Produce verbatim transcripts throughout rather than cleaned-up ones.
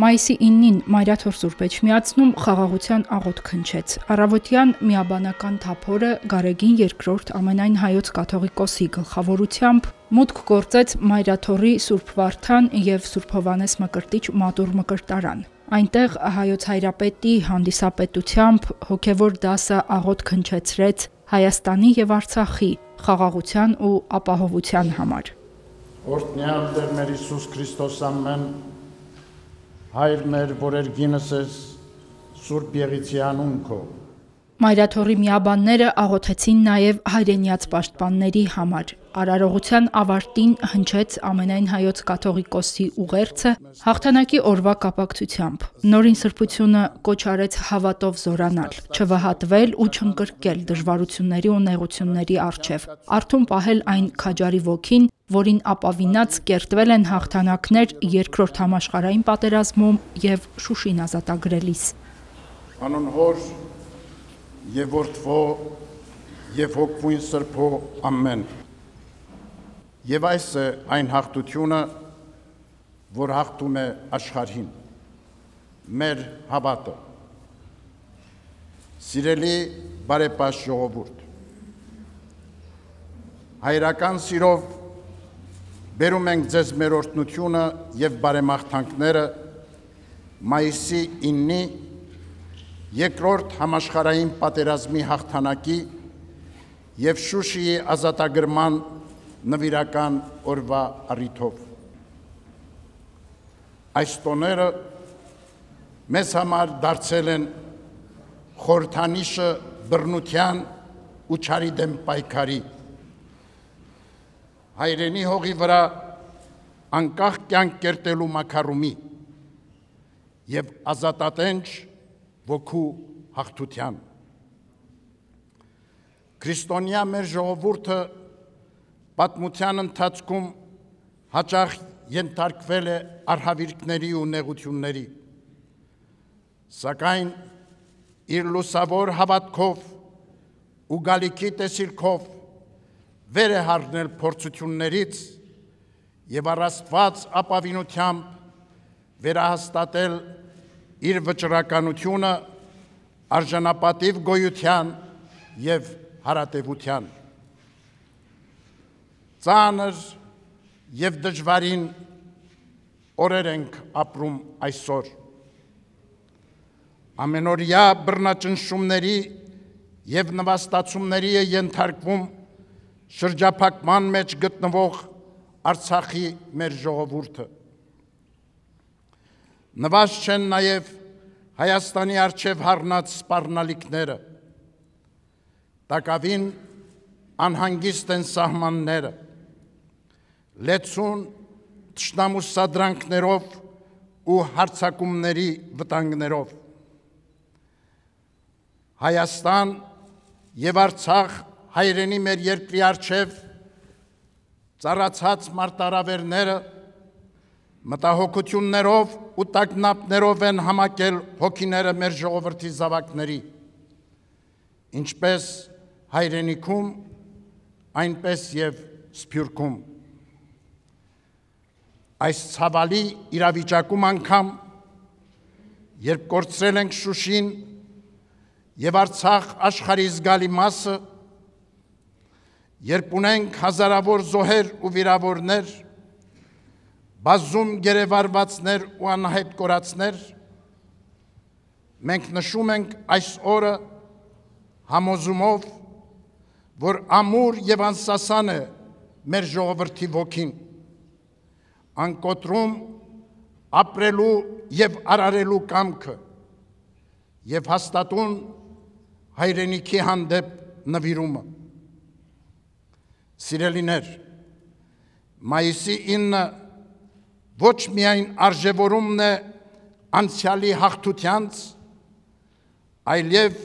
Մայիսի իննին Մայրաթոր Սուրբ Էջմիածնում խաղաղության աղոթք հնչեց։ Առավոտյան միաբանական թափորը Գարեգին երկրորդ ամենայն հայոց կաթողիկոսի գլխավորությամբ մուտք գործեց Մայրաթորի Սուրբ Վարդան և Սուրբ Հովհաննես Մկրտիչ մատուռ մկրտարան։ Այնտեղ հայոց հայրապետի հանդիսապետությամբ հոգևոր դասը աղոթք հնչեցրեց Հայաստանի և Արցախի խաղաղության ու ապահովության համար։ Օրհնյալ Տեր մեր Հիսուս Քրիստոս ամեն Հայր մեր, որ երգինս ես Սուրբ Եղիցի անուն քո։ Մայրաթորի միաբանները աղոթեցին նաև հայրենյաց պաշտպանների համար։ Արարողության ավարտին հնչեց ամենայն հայոց կաթողիկոսի ուղերձը հաղթանակի օրվա կապակցությամբ։ Նորին սրբությունը կոչ արեց հավատով զորանալ, չվհատվել ու չընկրկել դժվարությունների ու նեղությունների առջև, արթուն պահել այն քաջարի ոգին, որին ապավինած կերտվել են հաղթանակներ երկրորդ համաշխարհային պատերազմում և Շուշին ազատագրելիս։ Անուն Հոր և Որդվո և Հոգվույն Սրբո ամեն։ Եվ այս է այն հաղթությունը, որ հաղթում է աշխարհին, մեր հավատը։ Սիրելի բարեպաշտ ժողովուրդ, հայրական սիրով բերում ենք ձեզ մեր օրհնությունը և բարեմաղթանքները մայիսի իննի երկրորդ համաշխարհային պատերազմի հաղթանակի և Շուշիի ազատագրման նվիրական օրվա առիթով։ Այս տոները մեզ համար դարձել են խորհրդանիշը բռնության ու չարի դեմ պայքարի, հայրենի հողի վրա անկախ կյանք կերտելու մաքարումի և ազատատենչ ոգու հաղթության։ Քրիստոնյա մեր ժողովուրդը պատմության ընթացքում հաճախ ենթարկվել է արհավիրքների ու նեղությունների, սակայն իր լուսավոր հավատքով ու գալիքի տեսիլքով վեր է հառնել փորձություններից և առ Աստված ապավինությամբ վերահաստատել իր վճռականությունը արժանապատիվ գոյության և հարատևության։ Ծանր և դժվարին օրեր ենք ապրում այսօր։ Ամենօրյա բռնաճնշումների և նվաստացումների է ենթարկվում շրջափակման մեջ գտնվող Արցախի մեր ժողովուրդը։ Նվազ չեն նաև Հայաստանի առջև հառնած սպառնալիքները, տակավին անհանգիստ են սահմանները, լեցուն թշնամու սադրանքներով ու հարձակումների վտանգներով։ Հայաստան և Արցախ հայրենի մեր երկրի առջև ծառացած մարտահրավերները մտահոգություններով ու տագնապներով են համակել հոգիները մեր ժողովրդի զավակների, ինչպես հայրենիքում, այնպես և Սփյուռքում։ Այս ցավալի իրավիճակում անգամ, երբ կորցրել ենք Շուշին և Արցախ աշխարհի զգալի մասը, երբ ունենք հազարավոր զոհեր ու վիրավորներ, բազում գերեվարվածներ ու անհետ կորածներ, մենք նշում ենք այս օրը համոզումով, որ ամուր և անսասան է մեր ժողովրդի ոգին, անկոտրում ապրելու և արարելու կամքը և հաստատուն հայրենիքի հանդեպ նվիրումը։ Սիրելիներ, մայիսի ինը ոչ միայն արժևորումն է անցյալի հաղթությանց, այլև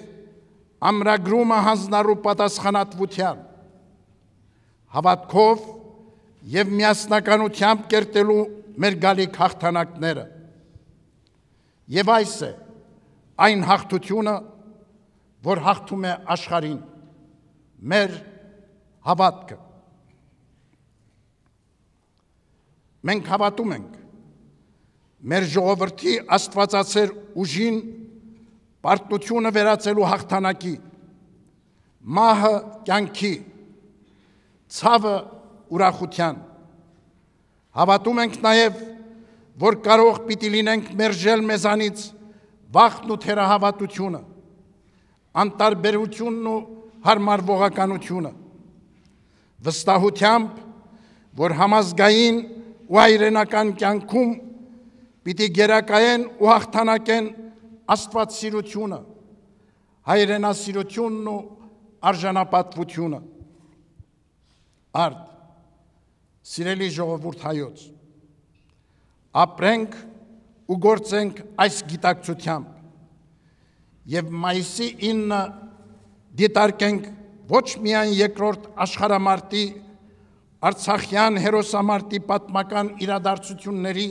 ամրագրումը հանձնառու պատասխանատվության, հավատքով և միասնականությամբ կերտելու մեր գալիք հաղթանակները։ Եվ այս է այն հաղթությունը, որ հաղթում է աշխարհին, մեր հավատքը։ Մենք հավատում ենք, մեր ժողովրդի աստվածացեր ուժին պարտությունը վերածելու հաղթանակի, մահը կյանքի, ցավը ուրախության։ Հավատում ենք նաև, որ կարող պիտի լինենք մերժել մեզանից վախն ու թերահավատությունը, անտարբերությունն ու հարմարվողականությունը, վստահությամբ, որ համազգային ու հայրենական կյանքում պիտի գերակայեն ու հաղթանակեն աստվածսիրությունը, հայրենասիրությունն ու արժանապատվությունը։ Արդ, սիրելի ժողովուրդ հայոց, ապրենք ու գործենք այս գիտակցությամբ և մայիսի ինը դիտարկենք ոչ միայն երկրորդ աշխարհամարտի Արցախյան հերոսամարտի պատմական իրադարձությունների,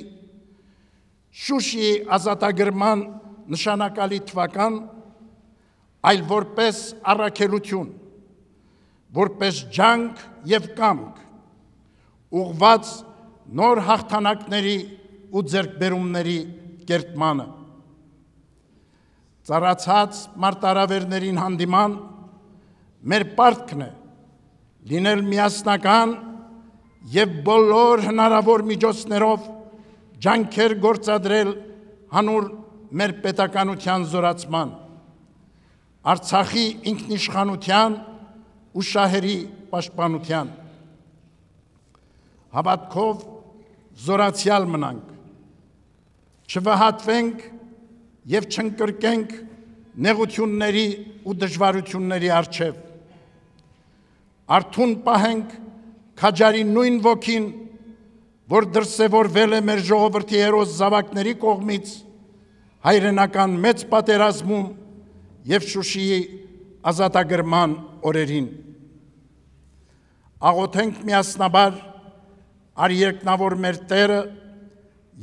Շուշիի ազատագրման նշանակալի թվական, այլ որպես առաքելություն, որպես ջանք և կամք, ուղղված նոր հաղթանակների ու ձեռքբերումների կերտմանը։ Ծառացած մարտահրավերներին հանդիման մեր պարտքն է լինել միասնական և բոլոր հնարավոր միջոցներով ջանքեր գործադրել հանուր մեր պետականության զորացման, Արցախի ինքնիշխանության ու շահերի պաշտպանության։ Հավատքով զորացյալ մնանք, չվհատվենք և չընկրկենք նեղությունների ու դժվարությունների առջև, արթուն պահենք քաջարի նույն ոգին, որ դրսևորվել է մեր ժողովրդի հերոս զավակների կողմից հայրենական մեծ պատերազմում և Շուշիի ազատագրման օրերին։ Աղոթենք միասնաբար արերկնավոր մեր Տերը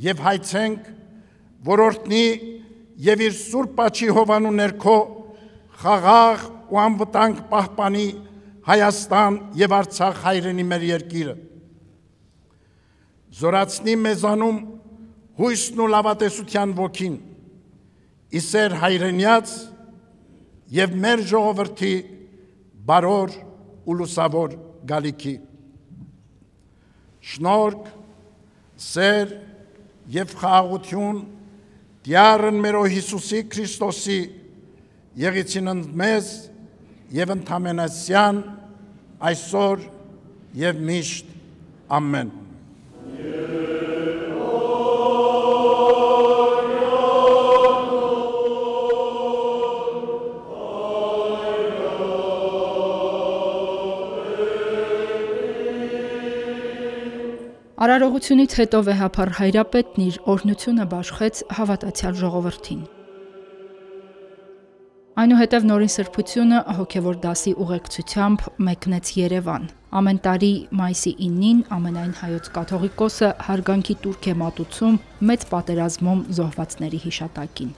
և հայցենք, որ օրհնի և իր սուրբ աջի հովանու ներքո խաղաղ ու անվտանգ պահպանի Հայաստան և Արցախ հայրենի մեր երկիրը, զորացնի մեզանում հույսն ու լավատեսության ոգին, իսեր հայրենյաց և մեր ժողովրդի բարոր ու լուսավոր գալիքի։ Շնորհք, սեր և խաղաղություն Տյառն մերո Հիսուսի Քրիստոսի եղիցին ընդ մեզ և ընդամենասյան այսօր և միշտ ամեն։ Արարողությունից հետո վեհափառ հայրապետն իր օրհնությունը բաշխեց հավատացյալ ժողովրդին։ Այնուհետև Նորին Սրբությունը հոգևոր դասի ուղեկցությամբ մեկնեց Երևան։ Ամեն տարի մայիսի իննին ամենայն հայոց կաթողիկոսը հարգանքի տուրք է մատուցում մեծ պատերազմում զոհվածների հիշատակին։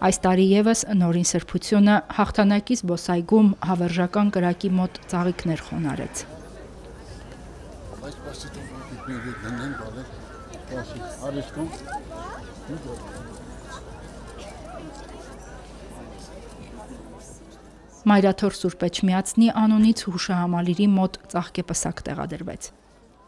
Այս տարի ևս Նորին Սրբությունը հաղթանակի զբոսայգում հավերժական կրակի մոտ ծաղիկներ խոնարհեց։ Մայրաթոր Սուրբ Էջմիածնի անունից հուշահամալիրի մոտ ծաղկեպսակ տեղադրվեց։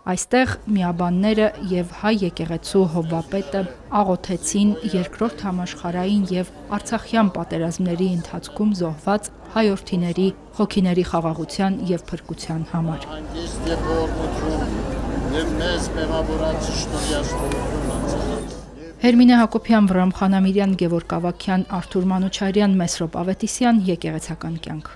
Այստեղ միաբանները և հայ եկեղեցու հովվապետը աղոթեցին երկրորդ համաշխարհային և արցախյան պատերազմների ընթացքում զոհված հայորդիների հոգիների խաղաղության և փրկության համար։ Հերմինե Հակոբյան, Վռամ Խանամիրյան, Գևորգ Ավագյան, Արթուր Մանուչարյան, Մեսրոպ Ավետիսյան, եկեղեցական կյանք։